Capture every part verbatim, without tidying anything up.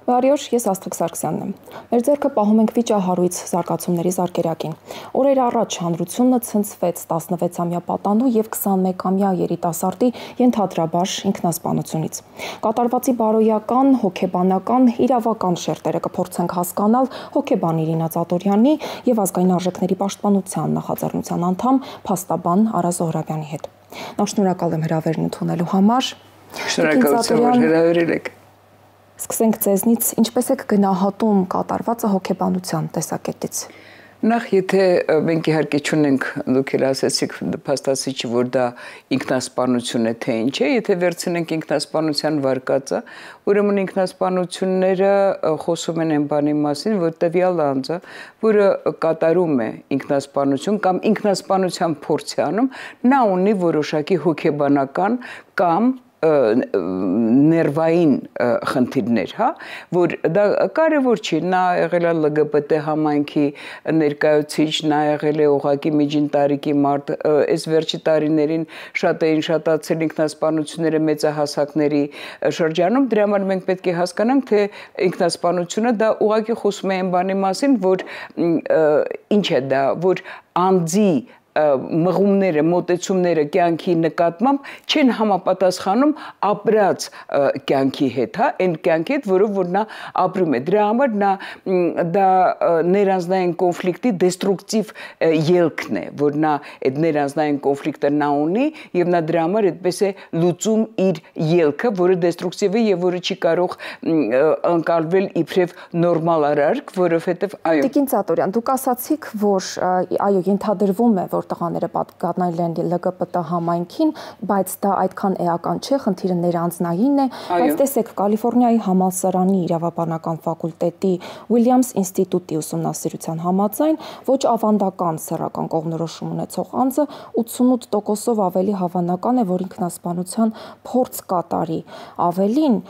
Բարի օր, ես Աստղիկ Սարգսյանն եմ։ Մեր ձեռքը պահում ենք վիճահարույց զարգացումների զարկերակին։ Օրեր առաջ հանրությունը ցնցվեց տասնվեցամյա պատանու եւ քսանմեկամյա երիտասարդի ենթադրաբար ինքնասպանությունից։ Կատարվածի բարոյական, հոգեբանական, իրավական շերտերը կփորձենք հասկանալ հոգեբան Իրինա Ծատորյանի եւ ազգային արժեքների պաշտպանության նախաձեռնության անդամ փաստաբան Արա Զոհրաբյանի հետ։ Նախ շնորհակալ եմ հրավերն ընդունելու համար։ Շնորհակալություն, որ հրավիրել եք։ Սկսենք ձեզնից, ինչպես եք գնահատում կատարվածը հոգեբանության տեսակետից։ Նախ եթե մենք իհարկե չունենք, դուք էլ ասեցիք փաստացիչի, որ դա ինքնասպանություն է, թե ինչ է, եթե վերցնենք ինքնասպանության վարկածը, ուրեմն ինքնասպանությունները խոսում են այն բանի մասին, որ տվյալ անձը, որը կատարում է ինքնասպանություն կամ ինքնասպանության փորձ է անում, նա ունի որոշակի հոգեբանական կամ ներվային խնդիրներ, հա, որ դա կարևոր չի, նա եղել է L G B T համայնքի ներկայացուցիչ, նա եղել է ուղղակի միջին տարիքի մարդ, այս վերջի տարիներին շատ էին շատացել ինքնասպանությունները մեծահասակների շրջանում, դրա համար մենք պետք է հասկանանք, թե ինքնասպանությունը դա ուղղակի խոսում է այն բանի մասին, որ ինչ է դա, որ անձի մղումները, մոտեցումները կյանքի նկատմամբ չեն համապատասխանում ապրած կյանքի հետ, հա, այն կյանքի հետ, որով որ նա ապրում է։ Դրա համար նա դա ներանձնային կոնֆլիկտի դեստրուկտիվ ելքն է, որ նա այդ ներանձնային կոնֆլիկտը նա ունի եւ նա դրա համար այդպես է լուծում իր ելքը, որը դեստրուկտիվ է եւ որը չի կարող ընկալվել իբրև նորմալ արարք, որովհետեւ այո։ Տիկին Ծատորյան, դուք ասացիք, որ այո, ենթադրվում է, որ տղաները պատկանել են L G B T համայնքին, բայց դա այդքան էական չէ, խնդիրը ներանձնային է, բայց տեսեք Կալիֆոռնիայի համալսարանի իրավաբանական ֆակուլտետի Williams ինստիտուտի ուսումնասիրության համաձայն ոչ ավանդական սեռական կողմնորոշում ունեցող անձը ութսունութ տոկոսով ավելի հավանական է, որ ինքնասպանության փորձ կատարի։ Ավելին,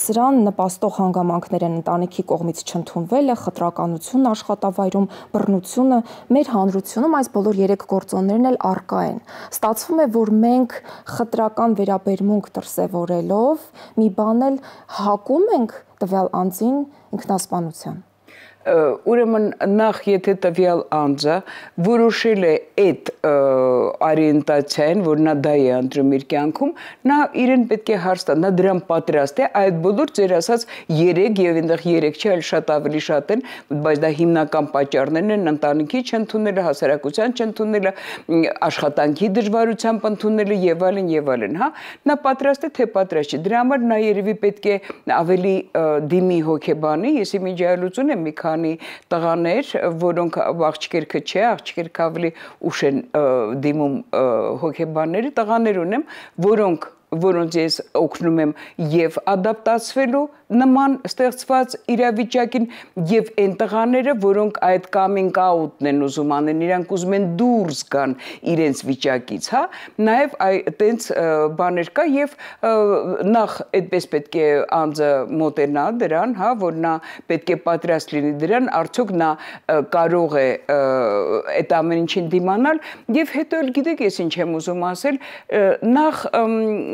սրան նպաստող հանգամանքներ են ընտանիքի կողմից չընդունվելը, խտրականությունն աշխատավայրում, բռնությունը, մեր հանրությունում այս բոլոր երեք գործոններն էլ առկա են։ Ստացվում է, որ մենք խտրական վերաբերմունք դրսևորելով մի բան էլ հակում ենք տվյալ անձին ինքնասպանության։ Ուրեմն նախ եթե տվյալ անձը որոշել է այդ օրիենտացիան, որ նա դա է ընտրում իր կյանքում, նա իրեն պետք է հարց տա, նա դրան պատրաստ է, այդ բոլոր ձեր ասած երեք եւ այնտեղ երեք չէ, այլ շատ ավելի շատ են, բայց դա հիմնական պատճառներն են՝ ընտանիքի չընդունելը, հասարակության չընդունելը, աշխատանքի դժվարությամբ ընդունելը եւ այլն եւ այլն, հա։ Նա պատրաստ է, թե պատրաստ չէ։ Դրա համար նա երևի պետք է ավելի դիմի հոգեբանի, ես իմիջ այլություն եմ մի քանի տղաներ, որոնք աղջիկերքը չէ, աղջիկերքը ավելի ուշ են դիմում հոգեբանների, տղաներ ունեմ, որոնք որոնց ես օգնում եմ եւ ադապտացվելու նման ստեղծված իրավիճակին եւ այն տղաները, որոնք այդ coming out-ն են ուզում անեն, իրանք ուզում են դուրս գան իրենց վիճակից, հա, նաեւ այտենց բաներ կա եւ նախ այդպես պետք է անձը մոտենա դրան, հա, որ նա պետք է պատրաստ լինի դրան, արդյոք նա կարող է այդ ամեն ինչին դիմանալ եւ հետո էլ գիտեք ես ինչ եմ ուզում ասել, նախ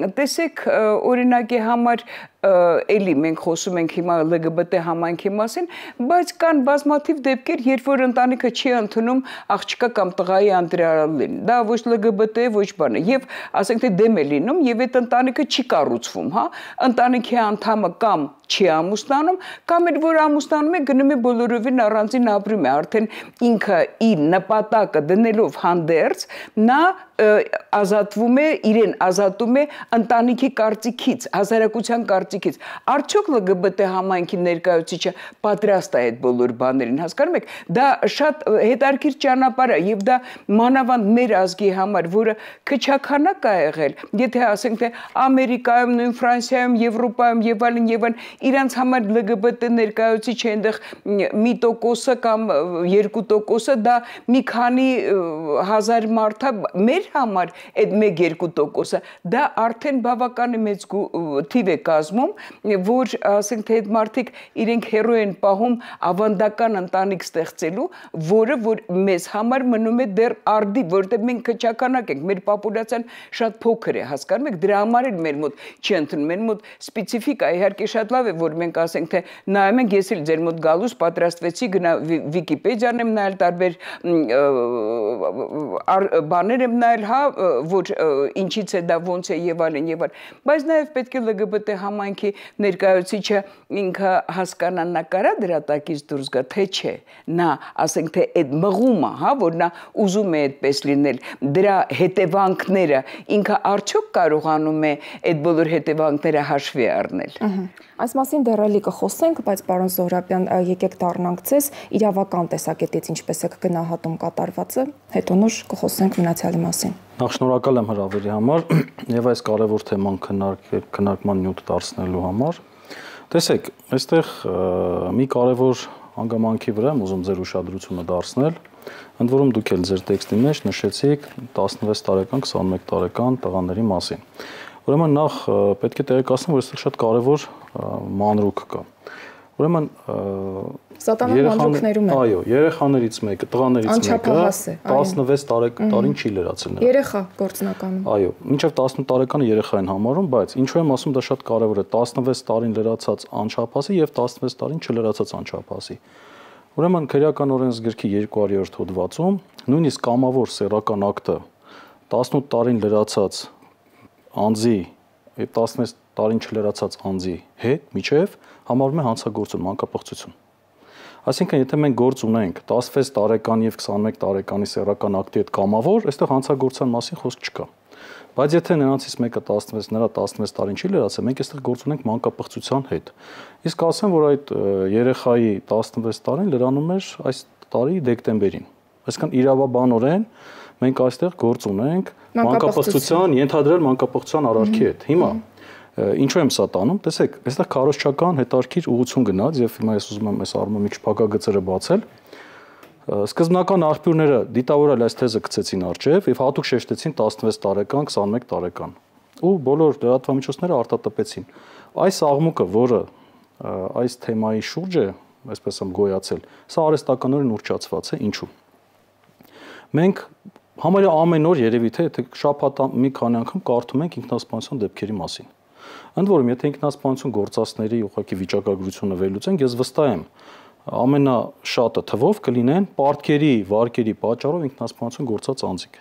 տեսեք օրինակի համար էլի մենք խոսում ենք հիմա L G B T համայնքի մասին, բայց կան բազմաթիվ դեպքեր, երբ որ ընտանիքը չի ընդունում աղջկա կամ տղայի ընտրյալին, դա ոչ L G B T ոչ բան է, եւ ասենք թե դեմ է լինում եւ այդ ընտանիքը չի կառուցվում, հա, ընտանիքի անդամը կամ չի ամուսնանում, կամ էլ որ ամուսնանում է գնում է բոլորովին առանձին ապրում է, արդեն ինքը իր նպատակը դնելով հանդերձ, նա ազատվում է, իրեն ազատում է ընտանիքի կարծիքից, հասարակության կարծիքից։ Արդյոք L G B T համայնքի ներկայացուցիչը պատրաստ է այդ բոլոր բաներին, հասկանում եք, դա շատ հետաքրքիր ճանապարհ է եւ դա մանավանդ մեր ազգի համար, որը քչաքանակ է եղել, եթե ասենք թե Ամերիկայում, նույն Ֆրանսիայում, Եվրոպայում եւ այլն եւ այլն, իրանց համար L G B T ներկայացուցիչը այնտեղ մի տոկոսը կամ երկու տոկոսը դա մի քանի հազար մարդ է, մեր համար այդ մեկ-երկու տոկոսը դա արդեն բավականին մեծ թիվ է կազմում, որ ասենք թե այդ մարդիկ իրենք հերո են պահում ավանդական ընտանիք ստեղծելու, որը որ մեզ համար մնում է դեռ արդի, որտեղ մենք քչականակ ենք, մեր պոպուլյացիան շատ փոքր է, հասկանում եք, դրա համար էլ մեր մոտ չի ընդունում, մեր մոտ սպეციფიკա իհարկե շատ լավ լավ է, որ մենք ասենք, թե նայում ենք, ես էլ ձեր մոտ գալուց պատրաստվեցի, գնա Վիկիպեդիան եմ նայել, տարբեր բաներ եմ նայել, հա, որ ինչից է դա, ոնց է եւ այլն եւ այլն, բայց նաեւ պետք է L G B T համայնքի ներկայացուցիչը ինքը հասկանա, նա կարա դրա տակից դուրս գա, թե չէ, նա ասենք, թե այդ մղումը, հա, որ նա ուզում է այդպես լինել, դրա հետևանքները ինքը արդյոք կարողանում է այդ բոլոր հետևանքները հաշվի առնել։ Այս մասին դեռ էլի կխոսենք, բայց պարոն Զոհրաբյան, եկեք դառնանք ձեզ իրավական տեսակետից ինչպես եք գնահատում կատարվածը, հետո նոր կխոսենք մնացյալի մասին։ Նախ շնորհակալ եմ հրավերի համար եւ այս կարևոր թեման քննարկման նյութ դարձնելու համար։ Տեսեք, այստեղ մի կարևոր հանգամանքի վրա եմ ուզում ձեր ուշադրությունը դարձնել, ընդ որում դուք էլ ձեր տեքստի մեջ նշեցիք տասնվեց տարեկան, քսանմեկ տարեկան տղաների մասին։ Ուրեմն նախ պետք է տեղեկացնեմ, որ այստեղ շատ կարևոր մանրուք կա։ Ուրեմն Սատանան մանրուքներում է։ Այո, երեխաներից մեկը, տղաներից մեկը տասնվեց տարեկան չի լրացել նրան։ Երեխա գործնականում։ Այո, մինչև տասնութ տարեկանը երեխա են համարում, բայց ինչու եմ ասում, դա շատ կարևոր է, տասնվեց տարին լրացած անչափահասի եւ տասնվեց տարին չլրացած անչափահասի։ Ուրեմն քրեական օրենսգրքի երկու հարյուր հոդվածում նույնիսկ կամավոր սեռական ակտը տասնութ տարին լրացած անձի եւ տասնվեց տարին չլրացած անձի հետ միջև համարվում է հանցագործություն, մանկապղծություն։ Այսինքն, եթե մենք գործ ունենք տասնվեց տարեկան եւ քսանմեկ տարեկանի սեռական ակտի հետ կամավոր, այստեղ հանցագործության մասին խոսք չկա։ Բայց եթե նրանցից մեկը տասնվեց, նրա տասնվեց տարին չի լրացել, մենք այստեղ գործ ունենք մանկապղծության հետ։ Իսկ ասեմ, որ այդ երեխայի տասնվեց տարին լրանում էր այս տարի դեկտեմբերին։ Այսինքն իրավաբանորեն մենք այստեղ գործ ունենք մանկապղծության, ենթադրել մանկապղծության արարքի հետ։ Հիմա ինչու եմ սա տանում, տեսեք, այստեղ քարոզչական հետարքիր ուղղություն գնաց եւ հիմա ես ուզում եմ այս առումով մի քիչ փակագծերը բացել։ Սկզբնական աղբյուրները դիտավորել այս թեզը գցեցին արջև եւ հատուկ շեշտեցին տասնվեց տարեկան, քսանմեկ տարեկան։ Ու բոլոր լրատվամիջոցները արտատպեցին։ Այս աղմուկը, որը այս թեմայի շուրջ է, այսպես եմ գոյացել, սա արհեստականորեն ուռճացված է, ինչու։ Մենք համարյա ամեն օր երևի թե եթե շաբաթ մի քանի անգամ կարդում ենք ինքնասպանության դեպքերի մասին։ Ընդ որում, եթե ինքնասպանություն գործածների ուղղակի վիճակագրությունը վերլուծենք, ես վստահ եմ, ամենաշատը թվով կլինեն պարտքերի, վարկերի պատճառով ինքնասպանություն գործած անձիկ։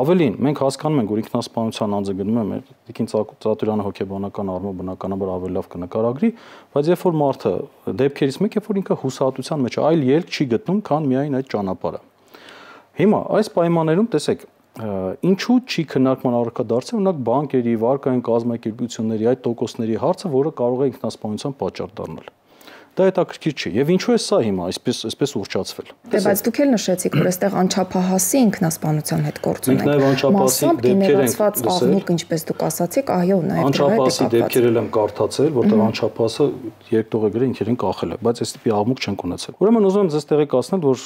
Ավելին, մենք հասկանում ենք, որ ինքնասպանության անձը գնում է մեր Տիկին Ծատուրյանը հոգեբանական առումով բնականաբար ավելի լավ կնկարագրի, բայց երբ որ մարդը դեպքերից մեկ է, որ ինքը հուսահատության մեջ այլ ելք չի գտնում, քան միայն այդ ճանապարհը։ Հիմա այս պայմաններում տեսեք, ինչու չի քննարկման առարկա դարձել օրինակ բանկերի, վարկային կազմակերպությունների այդ տոկոսների հարցը, որը կարող է ինքնասպանության պատճառ դառնալ։ Դա հետաքրքիր չի։ Եվ ինչու է սա հիմա այսպես այսպես ուռճացվել։ Դե բայց դուք էլ նշեցիք, որ այստեղ անչափահասի ինքնասպանության հետ գործ ունենք։ Մենք նաև անչափահասի դեպքեր ենք աղմուկ, ինչպես դուք ասացիք, այո, նաև անչափահասի դեպքեր եմ կարդացել, որտեղ անչափահասը երկտողը ինքերին կախել է, բայց այս տիպի աղմուկ չենք ունեցել։ Ուրեմն ուզում եմ ձեզ տեղեկացնել, որ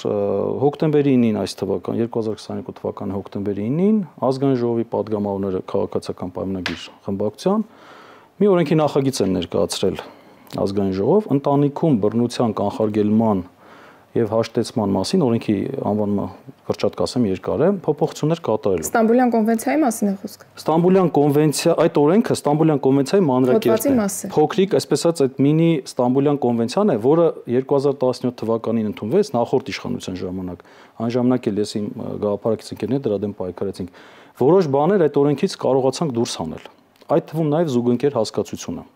հոկտեմբերի ինին այս թվական երկու հազար քսաներկու թվականի հոկտեմբերի ինին ազգային ժողովի падգամավորները քաղաքացիական պայմանագիր խմբակցության մի օրենքի նախագիծ են ներկայացրել ազգային ժողով ընտանիքում բռնության կանխարգելման եւ հաշտեցման մասին օրենքի անվանումը կրճատ կասեմ երկար է փոփոխություններ կատարելու։ Ստամբուլյան կոնվենցիայի մասին է խոսքը։ Ստամբուլյան կոնվենցիա, այդ օրենքը Ստամբուլյան կոնվենցիայի մանրակերտն է։ Փոքրիկ, այսպես ասած, այդ մինի Ստամբուլյան կոնվենցիան է, որը երկու հազար տասնյոթ թվականին ընդունվեց նախորդ իշխանության ժամանակ։ Այն ժամանակ էլ ես իմ գաղափարակից ընկերներ դրա դեմ պայքարեցինք։ Որոշ բաներ այդ օրենքից կարողացանք դուրս հանել։ Այդ թվում նաեւ զուգընկեր հասկացությունը։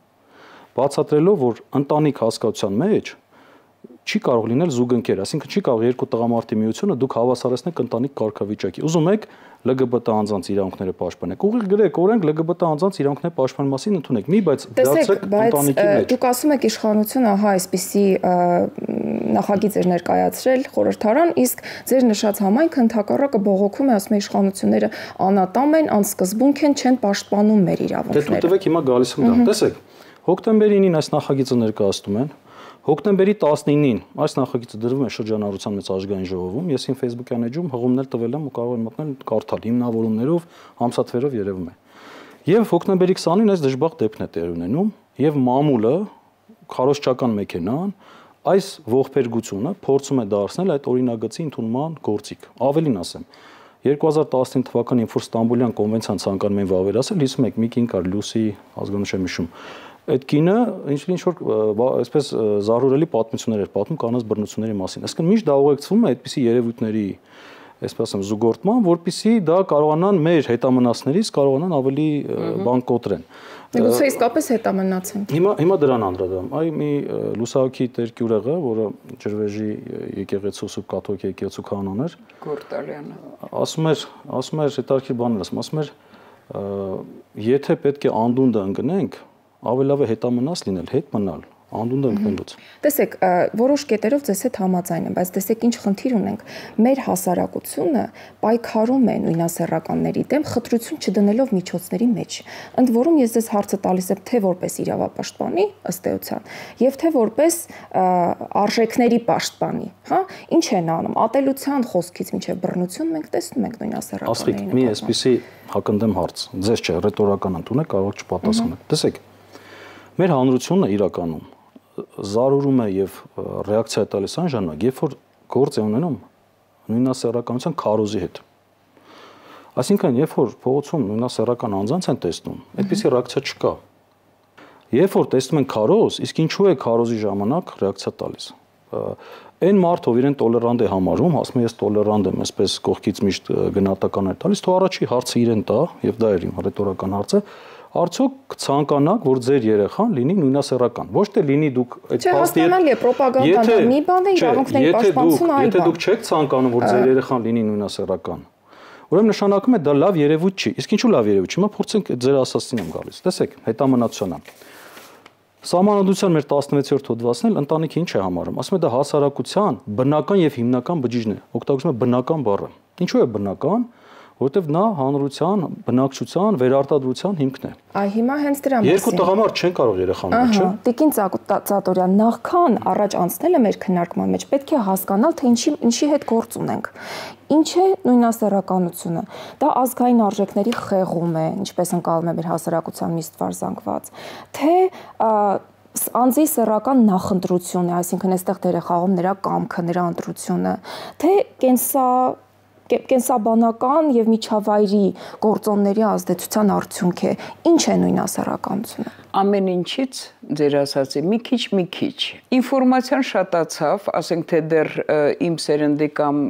Բացատրելով, որ ընտանիք հասկացության մեջ չի կարող լինել զուգընկեր, այսինքն չի կարող երկու տղամարդի միությունը դուք հավասարեցնեք ընտանիք կարգավիճակի։ Ուզում եք L G B T անձանց իրավունքները պաշտպանեք։ Ուղիղ գրեք օրենք L G B T անձանց իրավունքների պաշտպանման մասին ընդունեք։ Մի բայց դարձեք ընտանիքի մեջ։ Դուք ասում եք իշխանությունը, ահա, այսպիսի նախագիծ էր ներկայացրել խորհրդարան, իսկ ձեր նշած համայնքը ընդհակառակը բողոքում է, ասում է իշխանությունները անատամ են, անսկզբունք են, չեն պաշտպանում մեր իրավունքները։ Դե դուք տվեք հիմա գալիս եմ դա։ Տեսեք, հոկտեմբերի ինին այս նախագիծը ներկայացնում են։ Հոկտեմբերի տասնինին այս նախագիծը դրվում է շրջանառության մեծ ազգային ժողովում։ Ես իմ Facebook-յան էջում հղումներ տվել եմ ու կարող են մտնել կարդալ հիմնավորումներով, ամսաթվերով երևում է։ Եվ հոկտեմբերի քսանին այս դժբախտ դեպքն է տեղ ունենում եւ մամուլը քարոզչական մեքենան այս ողբերգությունը փորձում է դարձնել այդ օրինագծի ընդունման գործիք։ Ավելին ասեմ, երկու հազար տասնինը թվականին, երբ որ Ստամբուլյան կոնվենցիան ցանկանում էին վավերացել, հիսուն մեկ մի կին կար Լուսի ազգանշան միշում։ այդ կինը ինչ որ այսպես զարհուրելի պատմություններ էր պատմում կանանց բռնությունների մասին։ Այսինքն միշտ դա ուղեկցվում է այդպիսի երևույթների, այսպես ասեմ, զուգորդման, որպեսզի դա կարողանան մեր հետամնացներից կարողանան ավելի բան կոտրեն։ Գուցե իսկապես հետամնացեն։ Հիմա հիմա դրան անդրադառնում։ Այ մի լուսահոգի տերկյուրեղը, որը ջրվեժի եկեղեցու սուրբ կաթոլիկ եկեղեցու կանոն էր, Գորտալյանը, ասում էր, ասում էր հետարքի բաներ ասում, ասում էր, եթե պետք է անդունդը ընկնենք, ավելի լավ է հետամնաց լինել, հետ մնալ, անդունդը ընկնելուց։ Տեսեք, որոշ կետերով ձեզ հետ համաձայն եմ, բայց տեսեք ինչ խնդիր ունենք։ Մեր հասարակությունը պայքարում է նույնասեռականների դեմ խտրություն չդնելով միջոցների մեջ։ Ընդ որում ես ձեզ հարցը տալիս եմ թե որպես իրավապաշտպանի, ըստ էության, եւ թե որպես արժեքների պաշտպանի, հա, ինչ են անում։ Ատելության խոսքից մինչև բռնություն մենք տեսնում ենք նույնասեռականների։ Ասիկ, մի այսպիսի հակընդդեմ հարց, ձեզ չէ, ռետորական ընդունեք, կարող չպատասխանեք։ Տեսեք, մեր հանրությունը իրականում զարուրում է եւ ռեակցիա տալիս այն ժամանակ, երբ որ գործ է ունենում նույնասեռականության քարոզի հետ։ Այսինքն, երբ որ փողոցում նույնասեռական անձանց են տեսնում, այդպիսի ռեակցիա չկա։ Երբ որ տեսնում են քարոզ, իսկ ինչու է քարոզի ժամանակ ռեակցիա տալիս։ Այն մարդը, ով իրեն տոլերանտ է համարում, ասում է ես տոլերանտ եմ, այսպես կողքից միշտ գնահատական է տալիս, թող առաջի հարցը իրեն տա, եւ դա էր իմ ռետորական հարցը, արդյոք կցանկանաք, որ ձեր երեխան լինի նույնասեռական։ Ոչ թե լինի դուք այդ փաստի հետ պրոպագանդան, մի բան է իրավունքների պաշտպանությունը այլ բան։ Եթե դուք չեք ցանկանում, որ ձեր երեխան լինի նույնասեռական, ուրեմն նշանակում է դա լավ երևույթ չի։ Իսկ ինչու լավ երևույթ չի։ Հիմա փորձենք ձեր ասածին եմ գալիս։ Տեսեք, հետամնացությունը։ Սահմանադրության մեր տասնվեցերորդ հոդվածն էլ ընտանիքը ինչ է համարում։ Ասում է դա հասարակության բնական եւ հիմնական բջիջն է։ Օգտագործում է բնական բառը։ Ինչու է բնական, որովհետեւ նա հանրության, բնակչության, վերարտադրության հիմքն է։ Այ հիմա հենց դրա մասին։ Երկու տղամարդ չեն կարող երեխան ունենալ, չէ՞։ Տիկին Ծատորյան, նախքան առաջ անցնելը մեր քննարկման մեջ պետք է հասկանալ, թե ինչի ինչի հետ գործ ունենք։ Ինչ է նույնասեռականությունը։ Դա ազգային արժեքների խեղում է, ինչպես ընկալում է մեր հասարակության մի ստվար զանգված, թե անձի սեռական նախընտրություն է, այսինքն այստեղ դեր է խաղում նրա կամքը, նրա ընտրությունը, թե կենսա կենսաբանական եւ միջավայրի գործոնների ազդեցության արդյունք է։ Ինչ է նույնասեռականությունը։ Ամեն ինչից ձեր ասացի մի քիչ մի քիչ ինֆորմացիան շատացավ, ասենք թե դեռ իմ սերնդի կամ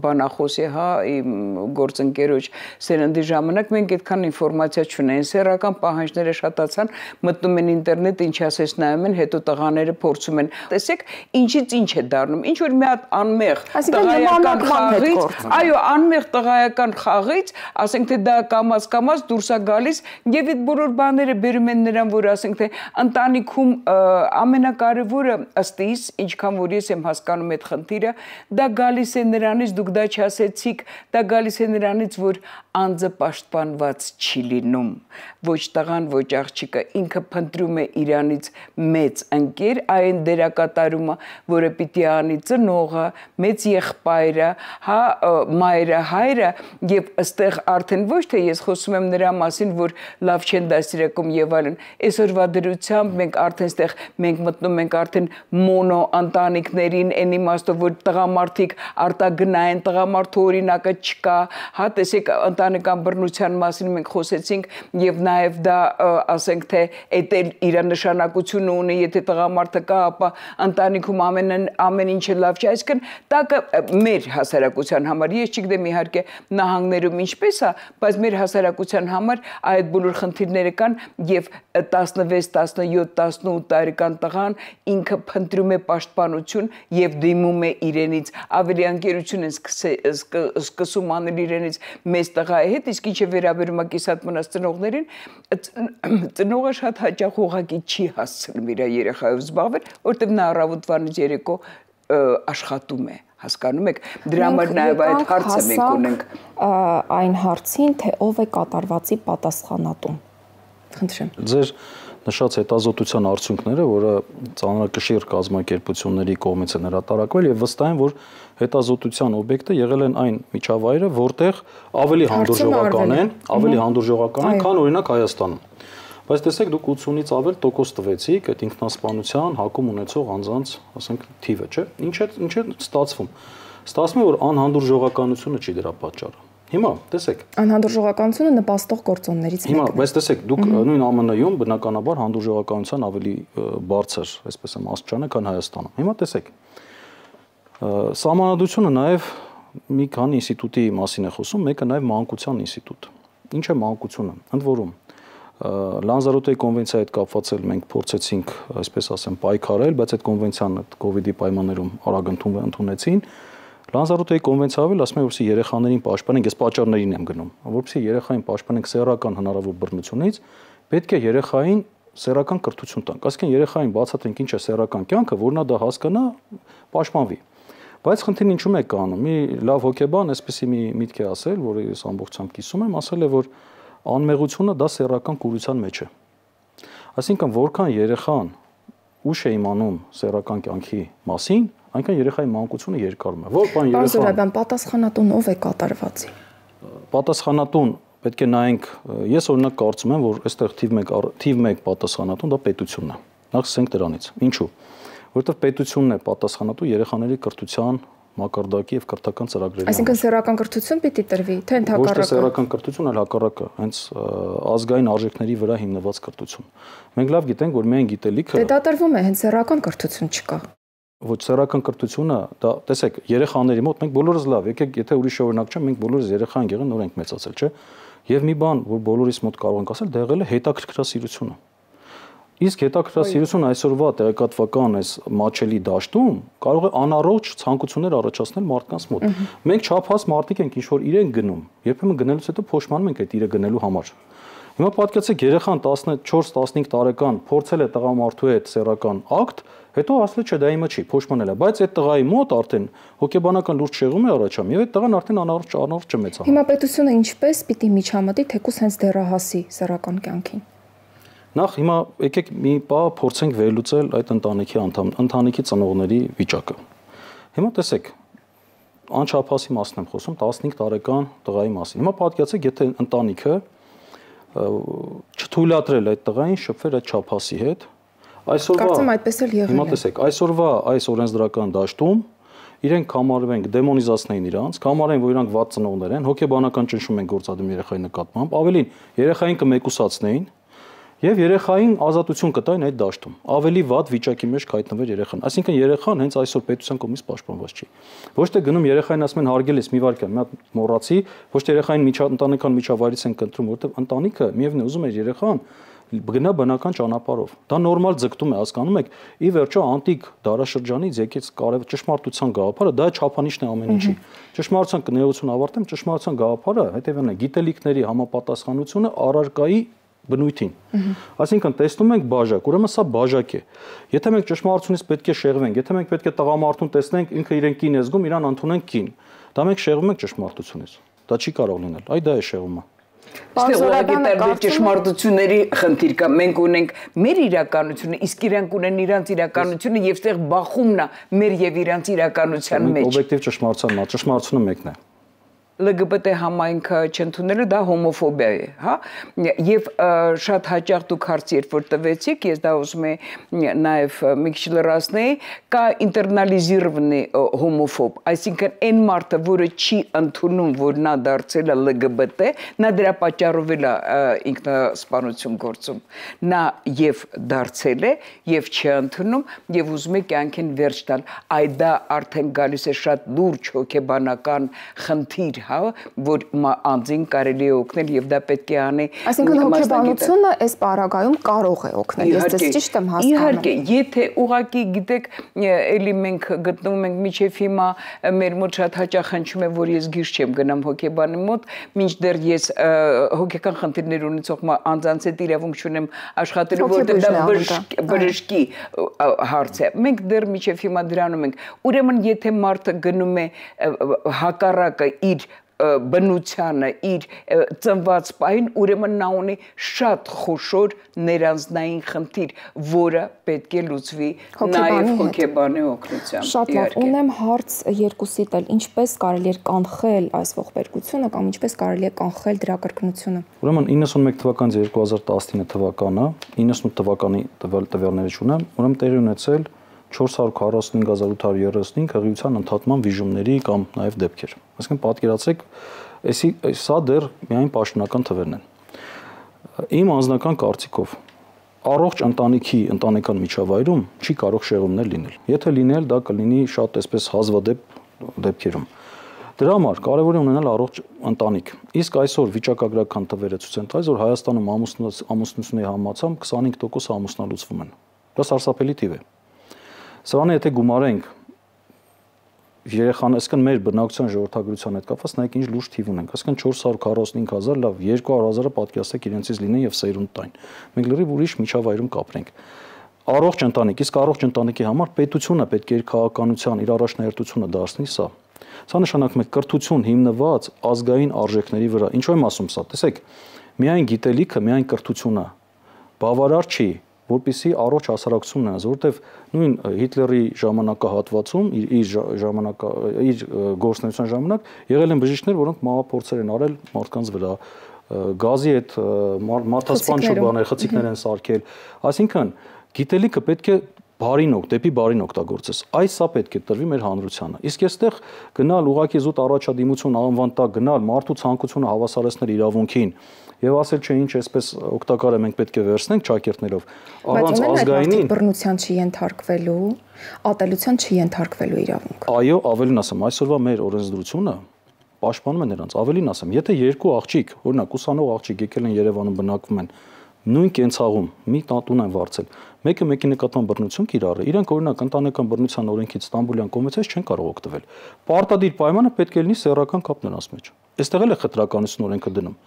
բանախոսի, հա, իմ գործընկերոջ սերնդի ժամանակ մենք այդքան ինֆորմացիա չունեին, սեռական պահանջները շատացան, մտնում են ինտերնետ, ինչ ասես նայում են, հետո տղաները փորձում են։ Տեսեք, ինչից ինչ է դառնում, ինչ որ մի հատ անմեղ տղայական խաղից, այո, անմեղ տղայական խաղից, ասենք թե դա կամած կամած դուրս է գալիս եւ այդ բոլոր բաները բերում են նրան, որ ասենք թե ընտանիքում ամենակարևորը ըստ իս, ինչքան որ ես եմ հասկանում այդ խնդիրը, դա գալիս է նրանից, դուք դա չասեցիք, դա գալիս է նրանից, որ անձը պաշտպանված չի լինում, ոչ տղան, ոչ աղջիկը, ինքը փնտրում է իրանից մեծ ընկեր, այն դերակատարումը, որը պիտի անի ծնողը, մեծ եղբայրը, հա, մայրը, հայրը, եւ ըստեղ արդեն ոչ թե ես խոսում եմ նրա մասին, որ լավ չեն դասիրակում եւ այլն, այսօրվա դրությամբ մենք արդեն ստեղ մենք մտնում ենք արդեն մոնո ընտանիքներին, այն իմաստով, որ տղամարդիկ արտագնային, տղամարդու օրինակը չկա, հա, տեսեք, ընտանեկան բռնության մասին մենք խոսեցինք եւ նաեւ դա ասենք թե էդ էլ իր նշանակությունը ունի, եթե տղամարդը կա, ապա ընտանիքում ամեն ամեն ինչը լավ չէ, այսինքն տակը մեր հասարակության համար, ես չգիտեմ իհարկե նահանգներում ինչպես է, բայց մեր հասարակության համար այդ բոլոր խնդիրները կան եւ տասնվեց, տասնյոթ, տասնութ տարեկան տղան ինքը փնտրում է պաշտպանություն եւ դիմում է իրենից, ավելի անկերություն են սկսում անել իրենից մեծ տղայի հետ, իսկ ինչը վերաբերում է կիսատ մնաց ծնողներին, ծնողը շատ հաճախ ուղղակի չի հասցնում իր երեխայով զբաղվել, որտեղ նա առավոտվանից երեկո աշխատում է, հասկանում եք, դրա համար նաև այդ հարցը մենք ունենք այն հարցին, թե ով է կատարվածի պատասխանատուն։ Խնդրեմ։ Ձեր նշած հետազոտության արդյունքները, որը ծանրակշիռ կազմակերպությունների կողմից են հրատարակվել եւ վստահ եմ, որ հետազոտության օբյեկտը եղել են այն միջավայրը, որտեղ ավելի հանդուրժողական են, ավելի հանդուրժողական են, քան օրինակ Հայաստանում։ Բայց տեսեք, դուք ութսունից ավել տոկոս տվեցիք այդ ինքնասպանության հակում ունեցող անձանց, ասենք, թիվը, չէ՞։ Ինչ է ինչ է ստացվում։ Ստացվում է, որ անհանդուրժողականությունը չի դրա պատճառը։ Հիմա տեսեք, անհանդուրժողականությունը նպաստող գործոններից մեկն է։ Հիմա, բայց տեսեք, դուք նույն Á Մն Յում բնականաբար հանդուրժողականության ավելի բարձր, այսպես եմ աստիճան է, քան Հայաստանում։ Հիմա տեսեք, Սահմանադրությունը նաև մի քանի ինստիտուտի մասին է խոսում, մեկը նաև մանկության ինստիտուտ։ Ինչ է մանկությունը։ Ընդ որում, Լանզարոտեի կոնվենցիայի հետ կապված էլ մենք փորձեցինք, այսպես ասեմ, պայքարել, բայց այդ կոնվենցիան կոവിഡ്ի պայմաններում արագ ընդունեցին։ Լանզարոտեի կոնվենցիայով էլ ասում է, որպեսզի երեխաներին պաշտպանենք, ես պատճառներին եմ գնում, որպեսզի երեխային պաշտպանենք սեռական հնարավոր բռնությունից, պետք է երեխային սեռական կրթություն տանք։ Այսինքն երեխային բացատրենք ինչ է սեռական կյանքը, որ նա դա հասկանա, պաշտպանվի։ Բայց խնդիրն ինչու՞մ է կանում։ Մի լավ հոգեբան այսպեսի մի միտք է ասել, որը ես ամբողջությամբ կիսում եմ, ասել է, որ անմեղությունը դա սեռական կուրության մեջ է։ Այսինքն, որքան երեխան ուշ է իմանում սեռական կյանքի մասին, այնքան երեխայի մանկությունը երկարում է։ Որ բան երեխան Պարզորաբան պատասխանատուն ով է կատարվածի։ Պատասխանատուն պետք է նայենք, ես օրինակ կարծում եմ, որ այստեղ թիվ մեկ թիվ մեկ պատասխանատուն դա պետությունն է։ Նախ սկսենք դրանից։ Ինչու՞։ Որովհետև պետությունն է պատասխանատու երեխաների կրթության մակարդակի եւ կրթական ծրագրերի։ Այսինքն սեռական կրթություն պիտի տրվի, թե ընդհակառակը։ Ոչ թե սեռական կրթություն, այլ հակառակը, հենց ազգային արժեքների վրա հիմնված կրթություն։ Մենք լավ գիտենք, որ միայն գիտելիքը Դե դա տրվում է, հենց սեռական կրթություն չկա։ Ոչ սեռական կրթությունը, դա տեսեք, երեխաների մոտ մենք բոլորս լավ, եկեք, եթե ուրիշ օրինակ չեմ, մենք բոլորս երեխա ենք եղել, նոր ենք մեծացել, չէ՞։ Եվ մի բան, որ բոլորիս մոտ կարող ենք ասել, դա եղել է հետաքրքրասիրությունը։ Իսկ հետաքրքրասիրությունը այսօրվա տեղեկատվական այս մաչելի դաշտում կարող է անառողջ ցանկություններ առաջացնել մարդկանց մոտ։ Մենք չափած մարդիկ ենք, ինչ որ իրենք գնում, երբեմն գնելուց հետո փոշմանում ենք այդ իրը գնելու համար։ Հիմա պատկերացրեք երեխան տասնչորս տասնհինգ տարեկան փորձել է տղամարդու հետ սեռական ակտ, հետո ասել չէ դա իմը չի, փոշմանել է, բայց այդ տղայի մոտ արդեն հոգեբանական լուրջ շեղում է առաջանում եւ այդ տղան արդեն անառողջ անառողջ է մեծանում։ Հիմա պետությունը ինչպես պիտի միջամտի թեկուզ հենց դեռահասի սեռական կյանքին։ Նախ հիմա եկեք մի բա փորձենք վերլուծել այդ ընտանիքի անդամ, ընտանիքի ծնողների վիճակը։ Հիմա տեսեք, անչափահասի մասն եմ խոսում, տասնհինգ տարեկան տղայի մասին։ Հիմա պատկերացրեք, եթե ընտանիքը չթույլատրել այդ տղային շփվել այդ չափահասի հետ, այսօրվա Կարծում այդպես էլ եղել է։ Հիմա տեսեք, այսօրվա այս օրենսդրական դաշտում իրենք կամարվենք դեմոնիզացնեին իրանց, կամարեն, որ իրանք վատ ծնողներ են, հոգեբանական ճնշում են գործադրում երեխայի նկատմամբ, ավելին երեխային կմեկուսացնեին եւ երեխային ազատություն կտային այդ դաշտում։ Ավելի վատ վիճակի մեջ կհայտնվեր երեխան։ Այսինքն երեխան հենց այսօր պետության կողմից պաշտպանված չի։ Ոչ թե գնում երեխային ասում են հարգել ես մի վարքյան, մի հատ մոռացի, ոչ թե երեխային միջա ընտանեկան միջավայրից են կընտրում, որովհետեւ ընտանիքը միևնույն ուզում է երեխան գնա բնական ճանապարհով։ Դա նորմալ ձգտում է, հասկանում եք, ի վերջո անտիկ դարաշրջանից եկեց կարև ճշմարտության գաղափարը, դա չափանիշն է ամեն ինչի։ Ճշմարտության կներություն ավարտեմ, ճշմարտության գաղափարը հետևյալն է՝ գիտելիքների համապատասխանությունը առարկայի բնույթին։ Այսինքն տեսնում ենք բաժակ, ուրեմն սա բաժակ է։ Եթե մենք ճշմարտությունից պետք է շեղվենք, եթե մենք պետք է տղամարդուն տեսնենք, ինքը իրեն կին է զգում, իրան ընդունենք կին, դա մենք շեղվում ենք ճշմարտությունից։ Դա չի կարող լինել։ Այ դա է շեղումը։ Ստեղծագետար ճշմարտությունների խնդիր կա։ Մենք ունենք մեր իրականությունը, իսկ իրանք ունեն իրանց իրականությունը եւ այդտեղ բախումն է մեր եւ իրանց իրականության մեջ։ Օբյեկտիվ ճշմարտությունն է, ճշմարտությունը մեկն է։ L G B T համայնքը չընդունելը դա հոմոֆոբիա է, հա, եւ շատ հաճախ դուք հարց երբ որ տվեցիք, ես դա ուզում եմ նաեւ մի քիչ լրացնեի, կա ինտերնալիզիրованный հոմոֆոբ, այսինքն այն մարդը, որը չի ընդունում, որ նա դարձել է L G B T, նա դրա պատճառով էլ ինքնասպանություն գործում, նա եւ դարձել է եւ չի ընդունում եւ ուզում է կյանքին վերջ տալ, այդ դա արդեն գալիս է շատ լուրջ հոգեբանական խնդիր, որ անձին կարելի է օգնել եւ դա պետք է անի։ Այսինքն հոգեբանությունը այս պարագայում կարող է օգնել, ես դες ճիշտ եմ հասկանում։ Իհարկե, եթե ուղղակի գիտեք, էլի մենք գտնվում ենք միջև հիմա մեր մոտ շատ հաճախ հնչում է, որ ես գիշ չեմ գնամ հոգեբանի մոտ, մինչդեռ ես հոգեկան խնդիրներ ունեցող անձանց հետ իրավունք չունեմ աշխատելու, որտեղ դա բժշկի հարց է։ Մենք դեռ միջև հիմա դրանում ենք։ Ուրեմն եթե մարդը գնում է հակառակը իր բնությանը, իր ծնված պահին, ուրեմն նա ունի շատ խոշոր ներանձնային խնդիր, որը պետք է լուծվի նաև հոգեբանի օգնությամբ։ Շատ լավ, ունեմ հարց երկուսիդ էլ, ինչպես կարելի է կանխել այս ողբերգությունը կամ ինչպես կարելի է կանխել դրա կրկնությունը։ Ուրեմն իննսունմեկ թվականից երկու հազար տասնինը թվականը, իննսունութ թվականի տվյալները չունեմ, ուրեմն տեղի ունեցել չորս հարյուր քառասունհինգ հազար ութ հարյուր երեսունհինգ հղիության ընդհատման վիժումների կամ նաև դեպքեր։ Այսինքն պատկերացրեք Էսի սա դեռ միայն պաշտոնական թվերն են։ Իմ անձնական կարծիքով առողջ ընտանիքի ընտանեկան միջավայրում չի կարող շեղումներ լինել։ Եթե լինել, դա կլինի շատ այսպես հազվադեպ դեպքերում։ Դրա համար կարևոր է ունենալ առողջ ընտանիք։ Իսկ այսօր վիճակագրական թվերը ցույց են տալիս, որ Հայաստանում ամուսնությունների համացամբ քսանհինգ տոկոս ամուսնալուծվում են։ Դա սարսափելի թիվ է։ Սրանը եթե գումարենք երեխան, այսինքն մեր բնակության ժողովրդագրության հետ կապված նայեք ինչ լուրջ թիվ ունենք, այսինքն չորս հարյուր քառասունհինգ հազար, լավ երկու հարյուր հազարը պատկերացրեք իրենցից լինեն եւ սերունդ տային։ Մենք լրիվ ուրիշ միջավայրում կապրենք։ Առողջ ընտանիք, իսկ առողջ ընտանիքի համար պետությունը պետք է իր քաղաքականության, իր առաջնահերթությունը դարձնի սա։ Սա նշանակում է կրթություն հիմնված ազգային արժեքների վրա։ Ինչու եմ ասում սա։ Տեսեք, միայն գիտելիքը, միայն կրթությունը բավարար չի, որպեսզի առողջ հասարակություն ունենաս, որովհետև նույն Հիտլերի ժամանակահատվածում իր իր ժամանակա իր գործունեության ժամանակ եղել են բժիշկներ, որոնք մահափորձեր են արել մարդկանց վրա, գազի հետ մարդասպան շուկաներ, խցիկներ են սարքել, այսինքն գիտելիքը պետք է բարին օգ, դեպի բարին օգտագործես։ Այս սա պետք է տրվի մեր հանրությանը։ Իսկ այստեղ գնալ ուղղակի զուտ առաջադիմություն անվան տակ գնալ մարդու ցանկությունը հավասարեցնել իրավունքին եւ ասել չէ ինչ այսպես օգտակար է մենք պետք է վերցնենք ճակերտներով առանց ազգայինին բռնության չի ենթարկվելու, ատելության չի ենթարկվելու իրավունք։ Այո, ավելին ասեմ, այսօրվա մեր օրենսդրությունը պաշտպանում է նրանց, ավելին ասեմ, եթե երկու աղջիկ, օրինակ ուսանող աղջիկ եկել են Երևանում բնակվում են նույն կենցաղում մի տուն են վարձել, մեկը մեկի նկատմամբ բռնություն կիրառ է, իրենք օրինակ ընտանեկան բռնության օրենքից Ստամբուլյան կոնվենցիայից չեն կարող օգտվել։ Պարտադիր պայմանը պետք է լինի սեռական կապ նրանց մեջ։ Այստեղ էլ է խտրականություն օրենքը դնում։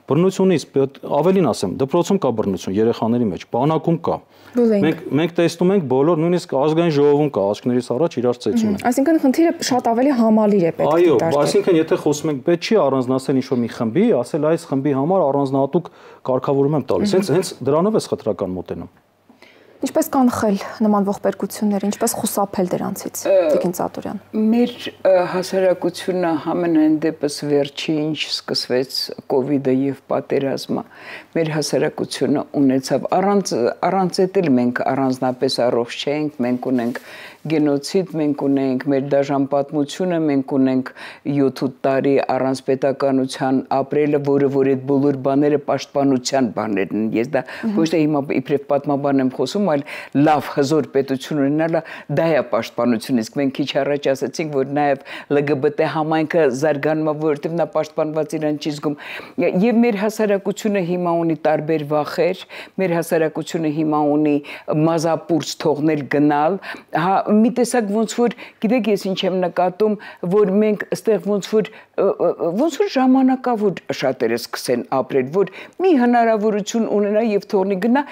Բռնությունից ավելին ասեմ, դպրոցում կա բռնություն երեխաների մեջ, բանակում կա։ Մենք մենք տեսնում ենք բոլոր, նույնիսկ ազգային ժողովում կա, աշկներից առաջ իրար ծեծում են։ Այսինքն խնդիրը շատ ավելի համալիր է պետք է դարձնել։ Այո, այսինքն եթե խոսում ենք, պետք չի առանձնացնել ինչ-որ մի խմբի, ասել այս խմբի համար առանձնահատուկ կարգավորում եմ տալիս։ Հենց հենց դրանով է խտրական մոտենում։ Ինչպես կանխել նման ողբերգությունները, ինչպես խուսափել դրանցից, Տիկին Ծատուրյան։ Մեր հասարակությունը համենայն դեպս վերջի ինչ սկսվեց կովիդը եւ պատերազմը, մեր հասարակությունը ունեցավ առանց առանց էտել մենք առանձնապես առողջ չենք, մենք ունենք գենոցիդ, մենք ունենք մեր դաժան պատմությունը, մենք ունենք յոթ-ութ տարի առանց պետականության ապրելը, որը որ այդ բոլոր բաները պաշտպանության բաներն են։ Ես դա ոչ թե հիմա իբրև պատմաբան եմ խոսում, այլ լավ հզոր պետություն ունենալը դա է պաշտպանություն, իսկ մենք քիչ առաջ ասացինք, որ նաև L G B T համայնքը զարգանում է, որովհետև նա պաշտպանված իրան չի զգում։ Եվ մեր հասարակությունը հիմա ունի տարբեր վախեր, մեր հասարակությունը հիմա ունի մազապուրց թողնել գնալ, հա մի տեսակ ոնց որ գիտեք ես ինչ եմ նկատում, որ մենք այստեղ ոնց որ ոնց որ ժամանակավոր շատերը սկսեն ապրել, որ մի հնարավորություն ունենա եւ թողնի գնա,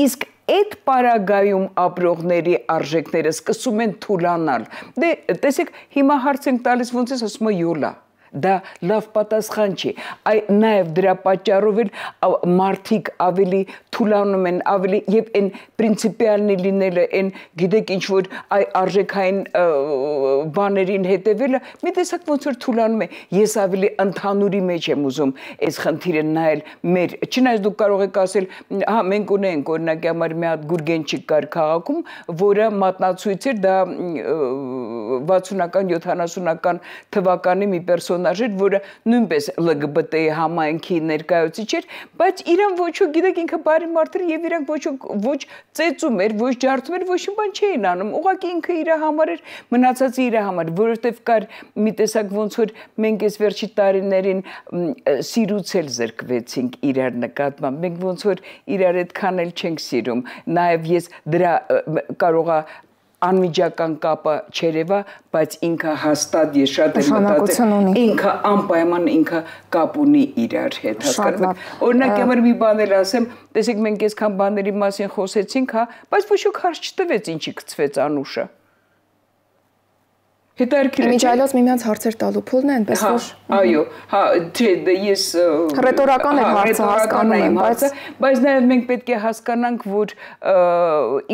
իսկ այդ պարագայում ապրողների արժեքները սկսում են թուլանալ։ Դե տեսեք, հիմա հարց ենք տալիս ոնց է ասում յոլա։ Դա լավ պատասխան չի, այ նաև դրա պատճառով էլ մարդիկ ավելի թուլանում են, ավելի եւ այն պրինցիպիալնի լինելը, այն գիտեք ինչ որ այ արժեքային բաներին հետևելը, մի տեսակ ոնց որ թուլանում է։ Ես ավելի ընդհանուրի մեջ եմ ուզում այս խնդիրը նայել մեր, չնայած դուք կարող եք ասել, հա մենք ունենք օրինակի համար մի հատ Գուրգենչիկ կար քաղաքում, որը մատնացույց էր, դա վաթսունական յոթանասունական թվականի մի պերսոն որը նույնպես L G B T համայնքի ներկայացուցիչ էր, բայց իրան ոչ ոք գիտեք ինքը բարի մարդ էր եւ իրանք ոչ ոչ ծեծում էր, ոչ ջարդում էր, ոչ մի բան չէին անում։ Ուղղակի ինքը իր համար էր, մնացածը իր համար, որովհետեւ կար մի տեսակ ոնց որ մենք այս վերջի տարիներին սիրուց էլ զրկվեցինք իրար նկատմամբ։ Մենք ոնց որ իրար այդքան էլ չենք սիրում։ Նաեւ ես դրա կարողա անմիջական կապը չերևա, բայց ինքը հաստատ ես շատ եմ մտածել, ինքը անպայման ինքը կապ ունի իրար հետ, հասկանում եք։ Օրինակ համար մի բան էլ ասեմ, տեսեք մենք այսքան բաների մասին խոսեցինք, հա, բայց ոչ ոք հարց չտվեց ինչի գցվեց Անուշը։ Իմիջայլոց միմյանց հարցեր տալու փուլն է, այնպես որ այո, հա, չէ, ես ռետորական է հարցը հասկանում եմ, բայց բայց նաև մենք պետք է հասկանանք, որ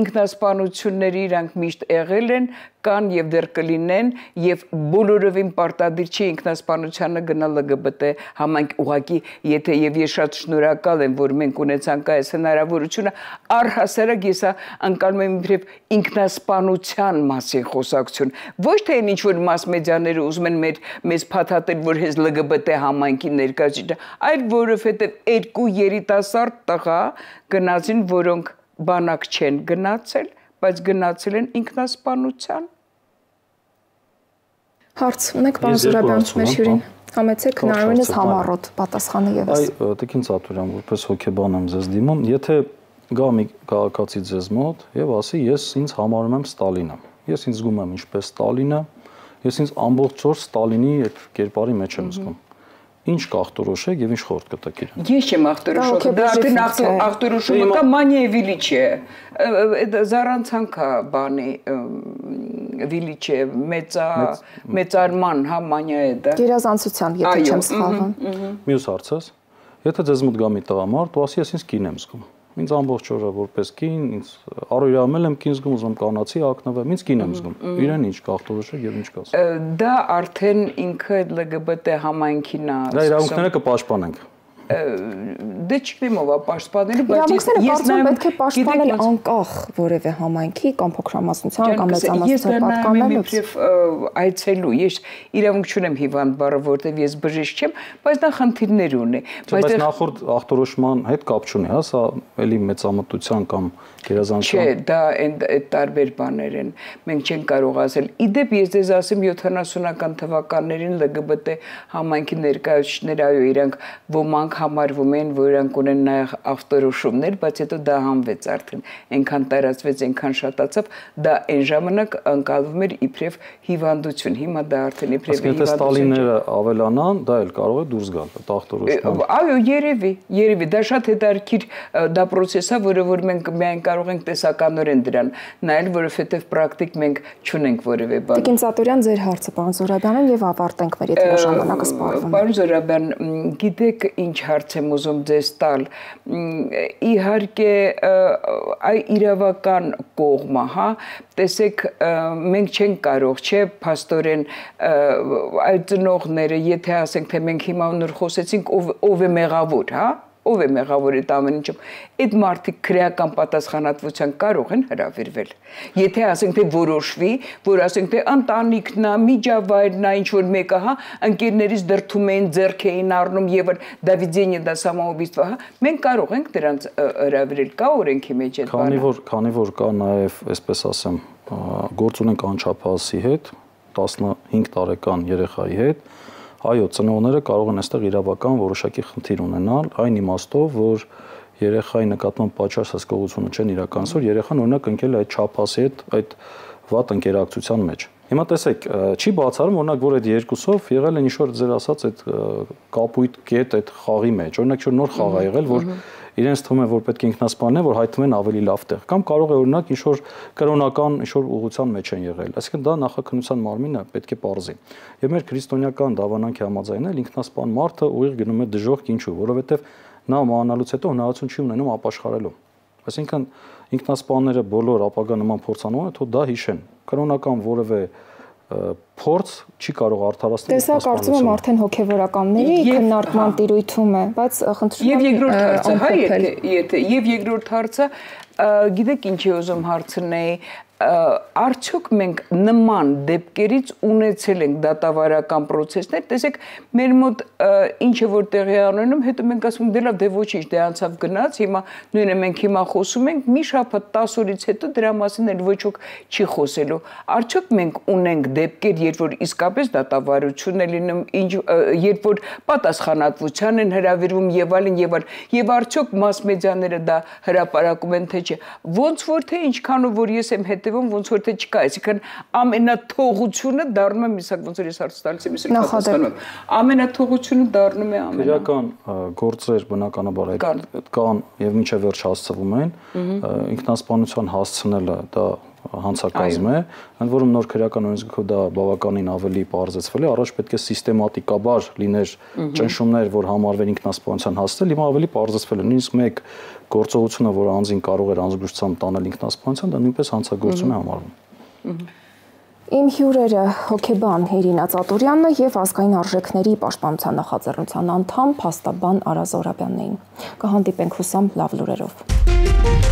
ինքնասպանությունները իրանք միշտ եղել են, կան եւ դեռ կլինեն եւ բոլորովին պարտադիր չի ինքնասպանությանը գնալ L G B T համայնք ուղակի եթե եւ ես շատ շնորհակալ եմ որ մենք ունեցանք այս հնարավորությունը առհասարակ ես անկալում եմ իբրև ինքնասպանության մասին խոսակցություն ոչ թե ինչ որ մաս մեդիաները ուզում են մեր մեզ փաթաթել որ հենց L G B T համայնքի ներկայացիչը այլ որովհետեւ երկու երիտասարդ տղա գնացին որոնք բանակ չեն գնացել բայց գնացել են ինքնասպանության Հարց ունեք պարոն Զուրաբյան մեր հյուրին համեցեք հնարավորինս համառոտ պատասխանը եւս Այ Տիկին Ծատուրյան որպես հոգեբան եմ ձեզ դիմում եթե գա մի քաղաքացի ձեզ մոտ եւ ասի ես ինձ համարում եմ Ստալինը ես ինձ զգում եմ ինչպես Ստալինը ես ինձ ամբողջ օր Ստալինի այդ կերպարի մեջ եմ զգում Ինչ կախտորոշեք եւ ինչ խորտ կտակ իրեն։ Ես չեմ ախտորոշում, դա արդեն ախտորոշումը կա Մանիևիլիչը, զառանցանքա բանի Վիլիչը, մեծա մեծարման հա Մանիա է դա։ Գերազանցության, եթե չեմ սխալվում։ Մյուս հարցս, եթե ձեզ մոտ գա մի տղամարդ, ու ասի ես ինձ կին եմ զգում։ Ինձ ամբողջ օրը որպես կին, ինձ առօրյամել եմ կին զգում, ուզում կանացի ակնվեմ, ինձ կին եմ զգում։ Իրեն ինչ կախտորոշեք եւ ինչ կասեք։ Դա արդեն ինքը L G B T համայնքին է։ Դա իրավունքները կպաշտպանենք։ Դե չգիտեմ ով է պաշտպանել, բայց ես նայում պետք է պաշտպանել անկախ որևէ համայնքի կամ փոքրամասնության կամ մեծամասնության պատկանելուց։ Ես այցելու, ես իրավունք չունեմ հիվանդ բառը, որտեվ ես բժիշկ չեմ, բայց դա խնդիրներ ունի։ Բայց նախորդ ախտորոշման հետ կապ չունի, հա, սա էլի մեծամտության կամ գերազանցության։ Չէ, դա այդ տարբեր բաներ են։ Մենք չենք կարող ասել։ Իդեպ ես դες ասեմ յոթանասունական թվականներին L G B T համայնքի ներկայացուցիչներ այո իրանք ոմանք համարվում են, որ իրանք ունեն նաև ախտորոշումներ, բայց հետո դա հանվեց արդեն, այնքան տարածվեց, այնքան շատացավ, դա այն ժամանակ անցալվում էր իբրև հիվանդություն, հիմա դա արդեն իբրև հիվանդություն։ Եթե Ստալինները ավելանան, դա էլ կարող է դուրս գալ, այդ ախտորոշումը։ Այո, երևի, երևի, դա շատ հետաքրքիր դա process է, որը որ մենք միայն կարող ենք տեսականորեն դրան նայել, որովհետև պրակտիկ մենք չունենք որևէ բան։ Տիկին Ծատուրյան, ձեր հարցը պարոն Զուրաբյանին եւ ավարտենք մեր եթե ժամանակը սպառվում։ Պարոն Զուրաբյան, գիտեք ինչ հարց եմ ուզում ձեզ տալ իհարկե այ իրավական կողմը հա տեսեք մենք չենք կարող չէ փաստորեն այդ ծնողները եթե ասենք թե մենք հիմա նոր խոսեցինք ով է մեղավոր հա ով է մեղավոր այդ ամեն ինչը այդ մարդիկ քրեական պատասխանատվության կարող են հրավիրվել եթե ասենք թե որոշվի որ ասենք թե ընտանիքն է միջավայրն է ինչ որ մեկը հա ընկերներից դրթում են ձեռք էին առնում եւ Դավիդյանը դա самоубийство հա մենք կարող ենք դրանց հրավիրել կա օրենքի մեջ այդ բանը քանի որ քանի որ կա նաեւ այսպես ասեմ գործ ունենք անչափահասի հետ տասնհինգ տարեկան երեխայի հետ Այո, ծնողները կարող են այստեղ իրավական որոշակի խնդիր ունենալ, այն իմաստով, որ երեխայի նկատմամբ պատշաճ հսկողությունը չեն իրականացրել, երեխան օրինակ ընկել է այդ չափասի հետ, այդ վատ ընկերակցության մեջ։ Հիմա տեսեք, չի բացառում օրինակ, որ այդ երկուսով եղել են ինչ-որ ձեր ասած այդ կապույտ կետ այդ խաղի մեջ, օրինակ ինչ-որ նոր խաղ ա եղել, որ իրենց թվում է, որ պետք է ինքնասպանեն, որ հայտնվում են ավելի լավ տեղ, կամ կարող է օրինակ ինչ-որ կրոնական ինչ-որ ուղղության մեջ են եղել, այսինքն դա նախաքննության մարմինը պետք է պարզի։ Եվ մեր քրիստոնեական դավանանքի համաձայն էլ ինքնասպան մարդը ուղիղ գնում է դժոխք ինչու, որովհետև նա մահանալուց հետո հնարավորություն չի ունենում ապաշխարելու։ Այսինքն ինքնասպանները բոլոր ապագա նման փորձանողները թող դա հիշեն։ Կրոնական որևէ փորձ չի կարող արդարացնել։ Տեսա կարծում եմ արդեն հոգևորականների քննարկման տիրույթում է, բայց խնդրում եմ եւ երկրորդ հարցը, հա, եթե եւ երկրորդ հարցը, գիտեք ինչ է ուզում հարցնել, արդյոք մենք նման դեպքերից ունեցել ենք դատավարական process-ներ, տեսեք, մեր մոտ ինչը որ տեղի ունենում, հետո մենք ասում ենք դե լավ, դե ոչինչ, դե անցավ գնաց, հիմա նույնը մենք հիմա խոսում ենք, մի շաբաթ տասը օրից հետո դրա մասին էլ ոչ ոք չի խոսելու։ Արդյոք մենք ունենք դեպքեր, երբ որ իսկապես դատավարություն է լինում, ինչ երբ որ պատասխանատվության են հրավիրվում եւ այլն եւ այլն, եւ արդյոք մաս մեդիաները դա հրապարակում են թե չէ։ Ոնց որ թե ինչքանով որ ես եմ հետ ոնց որ թե չկա, այսինքն ամենաթողությունը դառնում է միսակ ոնց որ ես հարց տալիս եմ, իսկ պատասխանում եմ։ Ամենաթողությունը դառնում է ամենա։ Քրեական գործեր բնականաբար այդ կան եւ մինչեւ վերջ հասցվում են, ինքնասպանության հասցնելը դա հանցակազմ է, ընդ որում նոր քրեական օրենսգրքով դա բավականին ավելի պարզեցվել է, առաջ պետք է սիստեմատիկաբար լիներ ճնշումներ, որ համարվեն ինքնասպանության հասցնել, հիմա ավելի պարզեցվել է, նույնիսկ մեկ գործողությունը, որ անձին կարող էր անզգուշությամբ տանել ինքնասպանության, դա նույնպես հանցագործություն է համարվում։ Իմ հյուրերը հոգեբան Իրինա Ծատուրյանն եւ ազգային արժեքների պաշտպանության նախաձեռնության անդամ փաստաբան Արա Զոհրաբյանն էին։ Կհանդիպենք հուսամ լավ լուրերով։